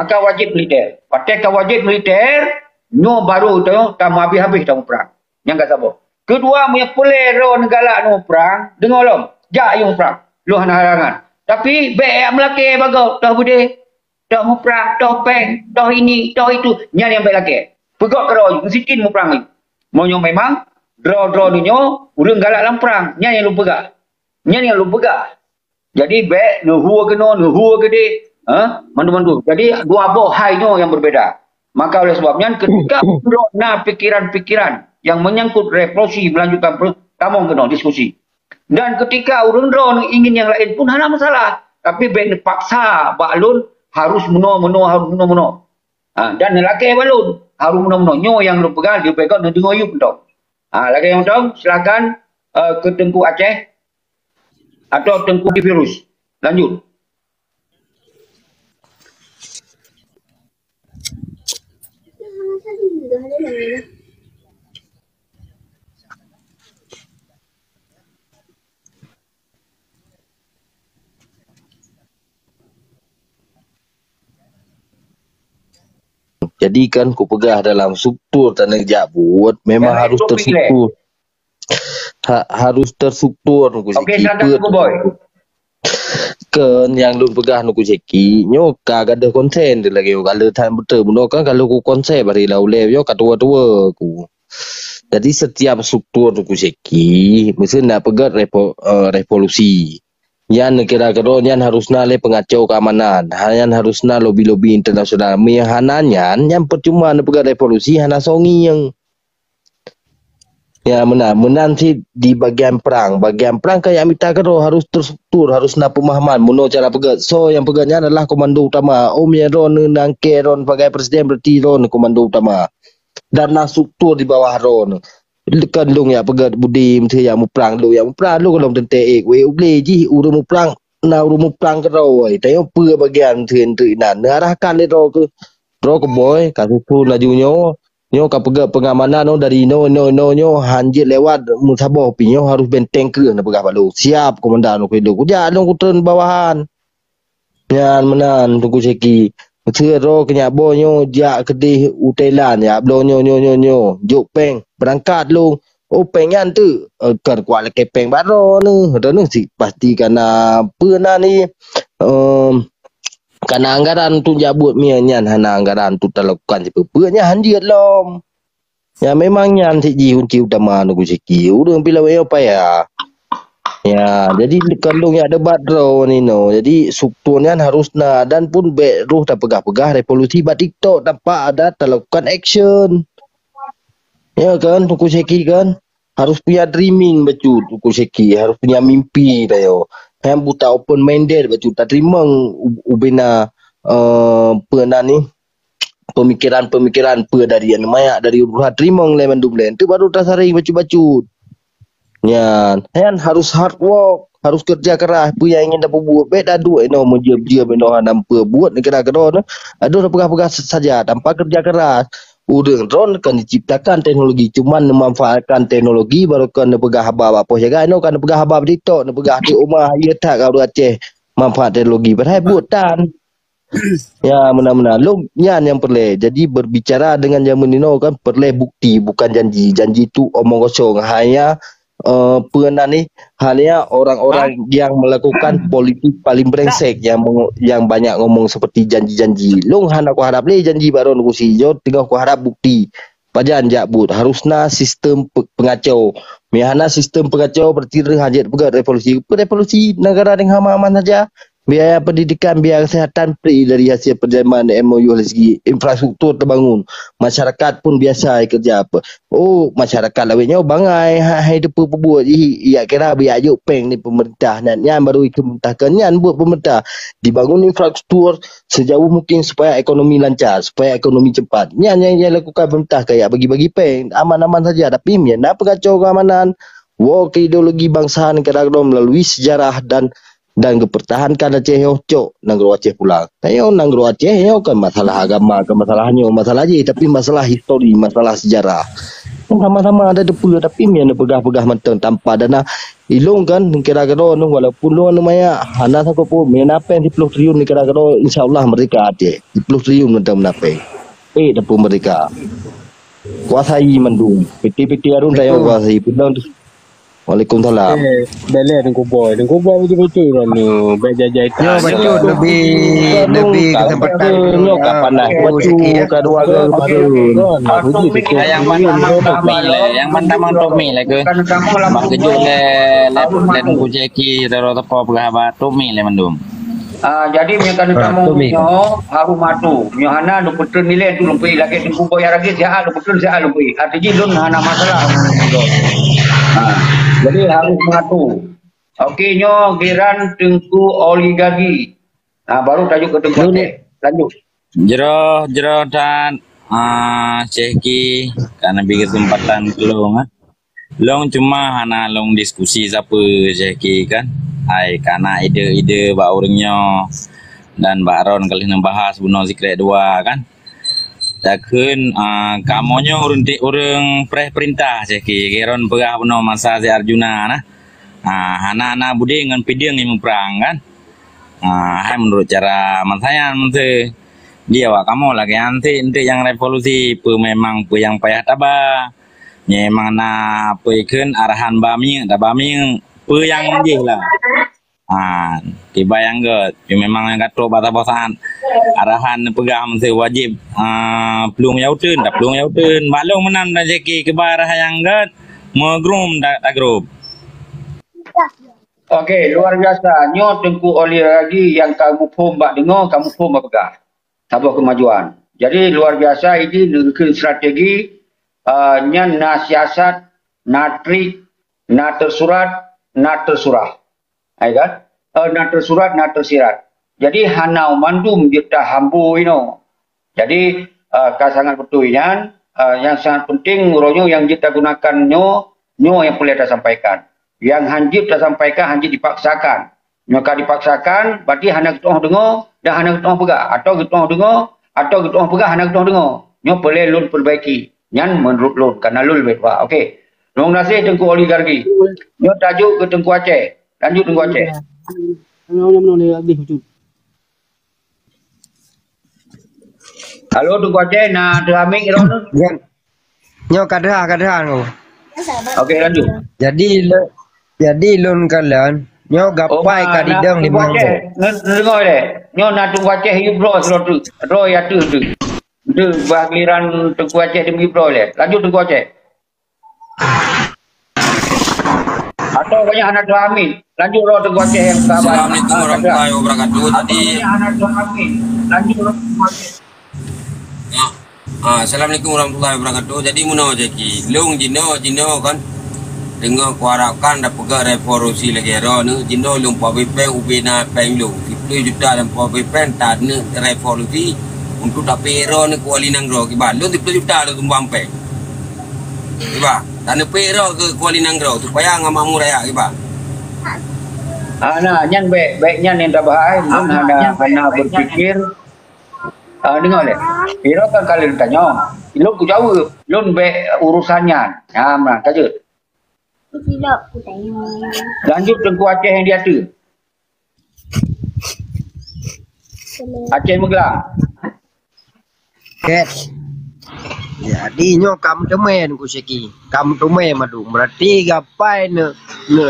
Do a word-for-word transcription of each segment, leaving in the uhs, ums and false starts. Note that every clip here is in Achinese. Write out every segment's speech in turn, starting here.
Maka wajéb militer. Watée ka wajéb militer, nyoe baru tanyoe tameuhabéh-habéh tamuprang. Nyang ka saboh. Keudua, meunyoe peureulée droeneuh galak muprang, deungoe lom, jak yue muprang. Lôn hana halangan. Tapi bék jak meulakée bagoe, toh beudé, toh muprang, toh péng, toh ini, toh itu. Nyan nyang bék lakée. Peugét keudroe, meusikin muprang laju. Meunyoe memang droe-droe nyoe ureuëng galak lam prang, nyan nyang lôn peugah. Nyan nyang lôn peugah. Jadi bék neuhue keunoe, neuhue keudeh, ha? Mandum-mandum. Jadi dua boh hai nyoe nyang berbeda. Maka oleh sebab nyan, ketika uroe na pikiran-pikiran yang menyangkut revolusi melanjutkan per- tamong keunoe diskusi. Dan ketika ureuëng droe ingin yang lain pun hana masalah. Tapi bék neupaksa bak lôn harus meunoe-meunoe, harus meunoe-meunoe. Ha, dan neulakée bak lôn harus meunoe-meunoe. Nyoe nyang lôn peugah, leubeh gét neudeungoe yub mantong. Ha, lagée nyoe mantong, silakan, eh, ke Teungku Aceh atau Teungku Virus. Lanjut. Jadi kan kupeugah dalam struktur taneuh jak buet memang harus terstruktur. Ha, harus terstruktur Teungku Syeki. Okey, silakan Teungku Boy. Keu nyang lôn peugah Teungku Syeki, nyoe ka gadôh konsen lagée nyoe, ka le that beutôi bunoe kan ka lôn ku konsep bari lam ulée nyoe ka tuwoe-tuwoe ku. Jadi setiap struktur Teungku Syeki mesti nak peugét revo- eh, revolusi. Nyan kira-kira nyan harus na lé peungacau keamanan, ha, nyan harus na lobi-lobi internasional. Meunyo hana nyan, nyan percuma neupeugét revolusi hana songieng. Ya, meunan. Meunan cit di bagian prang. Bagian prang ka jak mita keudroe harus terstruktur, harus na peumahaman. Meunoe cara peugét. Soe nyang peugét nyan adalah komando utama. Oh, meunyoe droeneuh nangkée droeneuh sebagai presiden, berarti droeneuh komando utama. Dan na struktur di bawah droeneuh. Kan lôn jak peugét budi, meusti jak muprang, lôn jak muprang, lôn lom teuntée ék, wék ubé jih ureuëng muprang, na ureuëng muprang keudroe. Tanyoe peue bagian meusti inan. Neuarahkan lé droe keu, droe keu Boy, ka susun laju nyoe. Nyoe ka peugét pengamanan nyoe dari inoe, inoe, inoe, nyoe, han jeuet lewat meusaboh pih nyoe harus benteng kreueh neupeugah bak lôn. Siap, komandan, kujak lôn kutreun bawahan. Nyan meunan, Teungku Syeki. Meuseu droe keu nyak boh nyoe jak keudeh u Thailand, jak bloe nyoe, nyoe, nyoe, nyoe. Jok péng, beurangkat lôn. Oh, péng nyan teuk. Eh, kan kuat lakée péng bak droeneuh. Droeneuh si pasti ka na peue na ni, em, ka na anggaran untuk jak buet, meunyo nyan hana anggaran untuk talakukan sipeue-peue, nyan han jeuet lom. Ya, memang nyan cit jih kunci utama Teungku Syeki. Ureuëng pih lawét nyoe payah. Ya, jadi kandong yak debat droe ninoe. Jadi struktur nyan harus na dan pun bék roh tapeugah-peugah revolusi bak TikTok tanpa ada talakukan action. Ya kan, Teungku Syeki kan? Harus punya dreaming bacut, Teungku Syeki. Harus punya mimpi tayo. Nyang buta open minded bacut. Tateurimong u- ubena, eh, peue nan ni, pemikiran-pemikiran peue dari aneuk manyak, dari urusan teurimong lé mandum lé. Enteuk baru tasaring bacut-bacut. Nyan, nyan harus hard work, harus kerja keras. Peue nyang ingin tapeubuet, bék taduek inoe meujeuem-jeuem inoe hana peue buet, neugara keudroe nyoe. Adoh tapeugah-peugah saja tanpa kerja keras. Ureuëng droe kan diciptakan teknologi, cuma neumanfaatkan teknologi baru kan neupeugah haba bak poh jaga inoe, kan neupeugah haba bak TikTok, neupeugah di uma, iya that ka ureuëng Aceh manfaat teknologi. Padahai buet tan. Ya, meunan-meunan. Lom nyan nyang peureulée. Jadi, berbicara dengan jameun inoe kan peureulée bukti, bukan janji. Janji tu omong kosong. Hanya, eh, peue nan ni, hanya orang-orang yang melakukan politik paling brengsek yang mengo- yang banyak ngomong seperti janji-janji. Lôn hana kuharap lé janji bak droeneuh Teungku Syeki. Jok teungoh kuharap bukti. Pajan jak buet, harus na sistem pe- peungacau. Meunyo hana sistem peungacau, berarti reuh hajat peugah revolusi. Peue revolusi? Negara dengan aman-aman saja. Biaya pendidikan, biaya kesehatan free dari hasil perjanjian M O U dari segi infrastruktur terbangun. Masyarakat pun biasa kerja apa. Oh, masyarakat lawét nyoe bangai, hai, hai teupeu peubuet jih, ya kira biak juk péng ni pemerintah. Nyan, nyan baru pemerintah kan nyan buat pemerintah. Dibangun infrastruktur sejauh mungkin supaya ekonomi lancar, supaya ekonomi cepat. Nyan yang, yang lakukan pemerintah kayak bagi-bagi péng, aman-aman saja. Tapi meunyo na peukacau keamanan, woe ke ideologi bangsa negara droe melalui sejarah dan dan geupertahankan Aceh nyoe cok nanggroe Aceh pulang. Tanyoe nanggroe Aceh nyoe kan masalah agama, kan masalah nyoe, masalah jih, tapi masalah histori, masalah sejarah. Sama-sama ada depa, tapi meunyoe neupeugah-peugah mantong tanpa dana, ilong kan neukira keudroe nyoe, walaupun lôn aneuk manyak, hana sangkot pun, meunyoe na péng siploh triliun neukira keudroe, insya Allah merdeka Aceh. Siploh triliun mantong na péng. Eh, dapur merdeka. Kuasai mandum. Piti-piti arun tayong kuasai. Peudong tu. Waalaikumsalam. Eh, beleh Teungku Boy. Teungku Boy betul-betul urang ni. Baik jajai. Ya, betul. Lebih, lebih kesempatan. Nyoe ka panas. Betul, ka dua kali baru. Yang mana Tommy le, yang mana Tommy le ke? Bak kejut le, le, le Teungku Jeki, Roro Tepo peugah bak Tommy le mandum. Ah, jadi meunyoe keuneuk tamong nyoe harus matu. Meunyoe hana, lôn peutreun nilai tu lôn peuék lagèe Teungku Boy Aragis, siat lôn peutreun, siat lôn peuék. Artinya lôn hana masalah. Ha. Jadi harus matu. Oke, nyoe giran Teungku Oligarki. Ha, baru tajuk ke Teungku Aceh. Lanjut. Jroh, jroh that, ah, Syekh Ki, ka neubi keuseumpatan keu lôn, ah. Lôn cuma hana lôn diskusi sapeue, Syekh Ki, kan. Hai, ka na ide-ide bak ureueng nyoe dan bak droen ka lheueh neubahas bunoe sikrek dua, kan. Takheun, ah, kamoe nyoe ureueng ti-, ureueng preh peurintah, Syekh Ki. Lagèe droen peugah bunoe masa si Arjuna na. Ah, hana na beudé ngon pideueng nyang muprang, kan. Ah, hai meunurot cara masa nyan, meusé di awak kamoe lagèe nyan, enteuk nyang revolusi, peue memang peue nyang payah taba. Memang na peue kheun arahan ba minyeuk, taba minyeuk, peue nyang jih lah. Ah, kiban nyang gèt, memang nyang ka trok bak saboh saat arahan neupeugah meusé wajéb, ah, plueng nyang uteuen, taplueng nyang uteuen. Bak lôn meunan dan Syekh Ki kiban arahan nyang gèt, meugruem ta-, tagrôp. Oke, luar biasa. Nyoe Teungku Oli Ragi nyang ka muphom bak deungoe, ka muphom bak peugah. Saboh kemajuan. Jadi, luar biasa, ini neukheun strategi, ah, nyan na siasat, na trik, na teusurat, na teusurah. Hai kan? Eh, na teusurat, na teusirat. Jadi, hana mandum jeuet tahambo inoe. Jadi, eh, ka sangat beutôi nyan, eh, nyang sangat penting uroe nyoe nyang jeuet tagunakan nyoe, nyoe nyang peureulèe tasampaikan. Nyang han jeuet tasampaikan, han jeuet dipaksakan. Nyoe ka dipaksakan, berarti hana geutu'oh deungoe dan hana geutu'oh peugah. Atawa geutu'oh deungoe, atawa geutu'oh peugah hana geutu'oh deungoe. Nyoe peureulèe lôn peurbaiki. Nyan meunurot lôn, kareuna lôn leubeh tuha. Oke. Terima kasih Teungku Oligarki. Nyoe tajok keu Teungku Aceh. Lanjut Teungku Aceh. Halo, Teungku Aceh, na teuhameng droeneuh? Nyoe ka deuh, ka deuh, Teungku. Oke, lanjut. Jadi, le-, jadi lôn kalon, nyoe gapai ka didong limong boh. Nge-, ngeungoe lé. Nyoe na Teungku Aceh yue bloe sidroe teuk. Droe ya teuh teuk. Teuk bah giliran Teungku Aceh demi bloe lé. Lanjut Teungku Aceh. Atau banyak anak dua amin. Lanjut roh Teungku Aceh yang sabar. Assalamualaikum warahmatullahi wabarakatuh. Jadi, ya. Ah, Assalamualaikum warahmatullahi wabarakatuh. Jadi, meunoe Zaki. Lôn jinoe, jinoe kan. Teungoh kuharapkan tapeugah revolusi lagèe droeneuh. Jinoe lôn pabe péng ubé na péng lôn. Siploh juta lôn pabe péng taneuk revolusi untuk tapeuék droeneuh keu wali nanggroe. Kiban lôn siploh juta lôn sumbang péng. Kiban, taneuk pék droe keu, keu wali nanggroe supaya ngon makmu raya kiban. Ah, nah, nyan bèk, bèk nyan nyang tabahai, lôn hana, hana berpikir. Ah, deungö lé. Piro kan ka lôn tanyong. Lôn kujaweueb, lôn bèk urusan nyan. Ha, meunan ka jeuet. Lanjut Teungku Aceh nyang di ateueh. Aceh Meuglang. Oke. Jadi nyoe ka meuteumé Teungku Syeki. Ka meuteumé mandum. Berarti gapai ne, ne,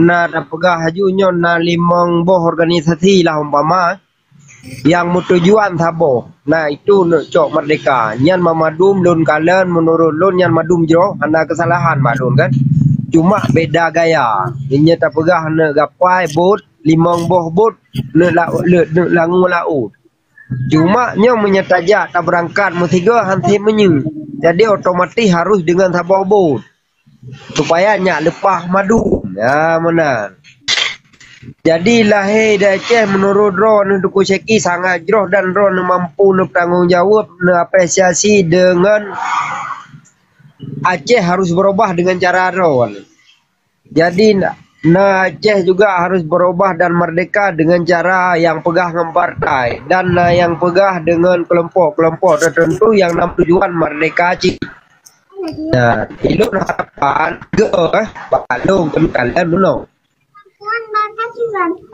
na tapeugah laju nyoe na limong boh organisasi lah umpama nyang meutujuan saboh. Na itu neuk cok merdeka. Nyan mandum lôn kalon, meunurot lôn nyan mandum jroh, hana keusalahan bak lôn kan. Cuma beda gaya. Nyoe tapeugah neuk gapai bot, limong boh bot, neuk la-, le-, neuk langue laôt. Cuma nyoe meunyoe tajak tabeurangkat meusigoe han sép meunyoe. Jadi otomatis harus deungon saboh bot. Supaya nyak leupah mandum. Ya, meunan. Jadi lahé di Aceh meunurot droeneuh Teungku Syeki sangat jroh dan droeneuh mampu neupeutanggong jaweueb, neuapresiasi deungon Aceh harus beurubah deungon cara droeneuh. Jadi, na, na Aceh juga harus berubah dan merdeka dengan cara yang peugah ngon partai dan na nyang peugah deungon keulompok-keulompok teuteuntu nyang na tujuan merdeka cit. Nah, ilôn harapan geuh, eh, bak lôn keuneuk kalon meunoe.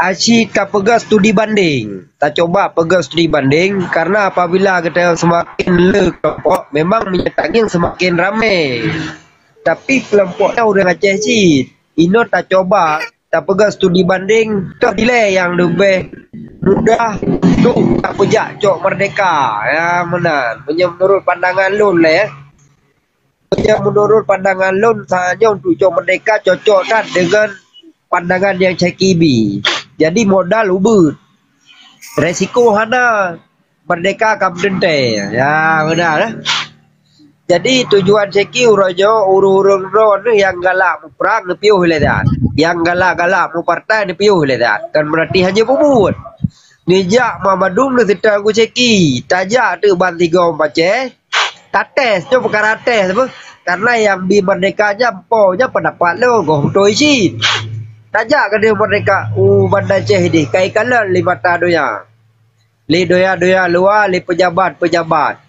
Aci tapeugah studi banding. Tacoba peugah studi banding, karena apabila geutanyoe seumaken le keulompok, memang meunyoe tangieng seumaken ramé. Tapi keulompok nyan ureuëng Aceh cit. Inoe tacoba tapeugah studi banding, toh dilée nyang leubeh mudah untuk tapeujak cok merdeka. Ya, meunan. Meunyoe meunurot pandangan lôn lé, meunyoe meunurot pandangan lôn, tanyoe untuk cok merdeka cocok that deungon pandangan nyang Syekh bi. Jadi modal ubit. Resiko hana, merdeka ka meuteuntée. Ya, meunan, eh. Jadi tujuan Syekh uroe nyoe ureuëng-ureuëng droe nyang galak muprang neupiôh lé that. Nyang galak-galak mupartai neupiôh lé that. Kan berarti hana peubuet. Neujak mandum neuseutôt ngon Syekh. Tajak teuk ban sigoe Aceh. Tates, nyoe peukara tes apa? Karena nyang bi merdeka nyan po nyan pendapat lôn, goh beutôi cit. Tajak keudeh merdeka u Banda Aceh deh, kai kalon lé mata donya. Lé donya-donya luwa, lé pejabat-pejabat.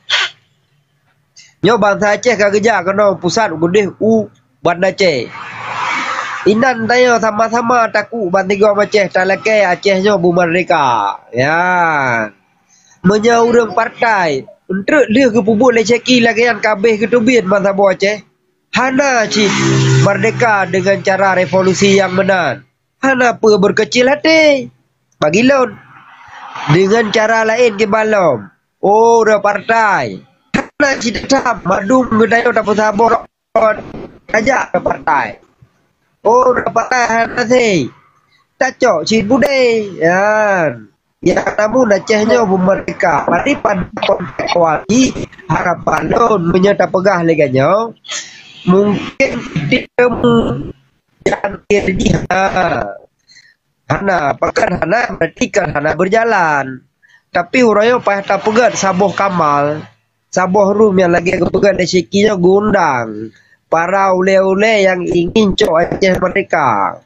Nyoe bansa Aceh ka geujak keunoe pusat keudeh u Banda Aceh. Inan tanyoe sama-sama takue ban sigoe Aceh talakée Aceh nyoe beumerdeka. Ya. Meunyoe ureuëng partai, eunteuk lheueh geupeubuet lé Syekh lagée nyan ka abéh geuteubiet ban saboh Aceh. Hana cit merdeka deungon cara revolusi nyang meunan. Hana peue beukeucil até. Bagi lôn, deungon cara laén kiban lom. Oh, ureuëng partai. Hana cit that mandum geutanyoe tapeusaboh rot. Tajak keu partai. Oh, ureuëng partai hana sé. Tacok cit budé. Nyan. Nyang namun Aceh nyoe beumerdeka. Berarti pada konteks awal jih, harapan lôn meunyoe tapeugah lé geutanyoe, mungken tiep teumu jalan akhir jih hana. Hana, pakon hana, berarti kan hana berjalan. Tapi uroe nyoe payah tapeugét saboh kamal, saboh ruh nyang lagée geupeugét lé Syekh nyoe geuundang para ulée-ulée nyang ingin cok Aceh merdeka.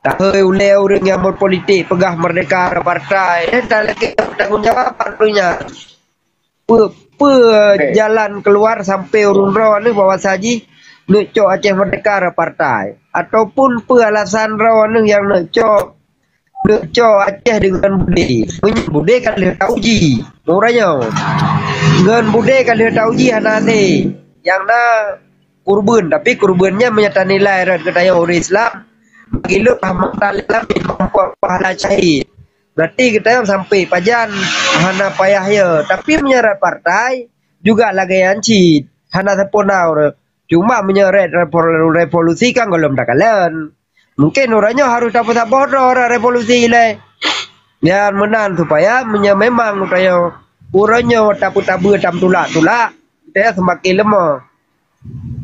Tahôi ulée ureuëng nyang berpolitik peugah merdeka partai, dan talakée tanggung jawab partai nyan. Peue, peue jalan keluar sampai ureuëng droe nyoe bahwa saji neuk cok Aceh merdeka partai? Ataupun peue alasan droe nyoe nyang neuk cok, neuk cok Aceh deungon budé? Meunyoe budé ka lheueh tauji, uroe nyoe. Ngon budé ka lheueh tauji hana hase. Nyang na kurban, tapi kurban nyan meunyoe tanilai rot geutanyoe ureuëng Islam, bagi lôn pahala syahid. Berarti geutanyoe sampai pajan hana payah ya. Tapi meunyoe rot partai juga lagée nyan cit, hana sapeue na ureuëng. Cuma meunyoe rot revol-, revolusi kan gohlom takalon. Mungkin uroe nyoe harôh tapeusaboh droe rot revolusi ilée. Nyan meunan supaya meunyoe memang geutanyoe uroe nyoe tapeutabeue tamtulak-tulak, geutanyoe seumaken leumoh.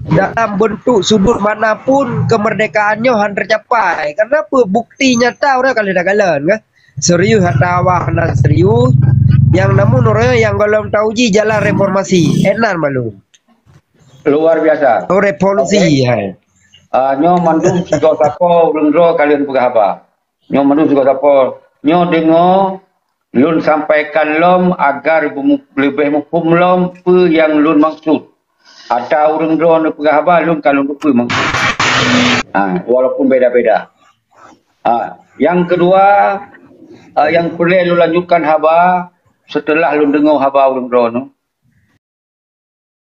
Dalam bentuk sudut mana pun kemerdekaan nyoe han teucapai. Karena peue bukti nyata uroe ka lheueh takalon, kan? Serius atawa hana serius, nyang namun uroe nyang gohlom tauji jalan reformasi. Enan malu. Luar biasa. Oh, revolusi, okey, hai. Ah, nyoe mandum sigoe sapo ureuëng droe ka lheueh peugah haba. Nyoe mandum sigoe sapo. Nyoe deungoe lôn sampaikan lom agar beumu-, leubeh muphom lom peue nyang lôn maksud. Ata ureuëng droe neupeugah haba lôn ka lôn keupeue maksud. Ha, walaupun beda-beda. Ha, nyang keudua, ha, nyang peureulée lôn lanjutkan haba, seuteulah lôn deungoe haba ureuëng droe nyoe,